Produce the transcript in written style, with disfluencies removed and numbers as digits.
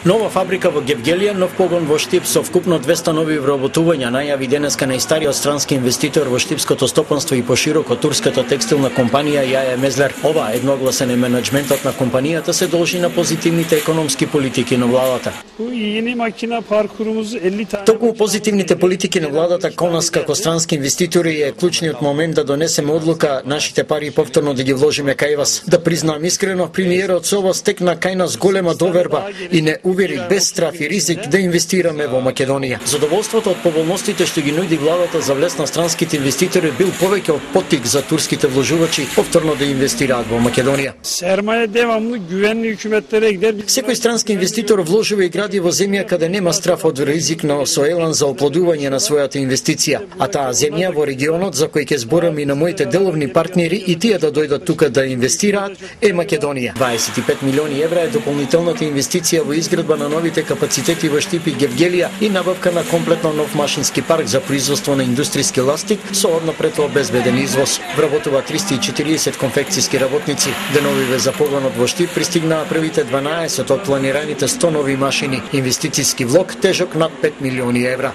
Нова фабрика во Гевгелија, нов погон во Штип со вкупно 200 нови вработувања најави денеска најстариот странски инвеститор во штипското стопанство и пошироко турската текстилна компанија Јаја Мезлер. Ова едногласен е менеджментот на компанијата се должи на позитивните економски политики на владата. Токму позитивните политики на владата кон нас како странски инвеститори е клучниот момент да донесеме одлука нашите пари повторно да ги вложиме кај вас. Да признаам искрено, премиерот со ова стекна кај нас голема доверба и не увери без страф и ризик да инвестираме во Македонија. Задоволството од поволностите што ги нуди владата за влез на странските инвеститори бил повеќе од поттик за турските вложувачи повторно да инвестираат во Македонија. Секој странски инвеститор вложува и гради во земја каде нема страф од ризик на соелан за оплодување на својата инвестиција, а таа земја во регионот за кој ќе зборам и на моите деловни партнери и тие да дојдат тука да инвестираат е Македонија. 25 милиони евра е дополнителната инвестиција во изградба на новите капацитети во Штип и Гевгелија и набавка на комплетно нов машински парк за производство на индустријски ластик со однапред обезбеден извоз. Вработува 340 конфекцијски работници. Деновиве за погонот во Штип пристигнаа првите 12 од планираните 100 нови машини. Инвестицијски влог тежок над 5 милиони евра.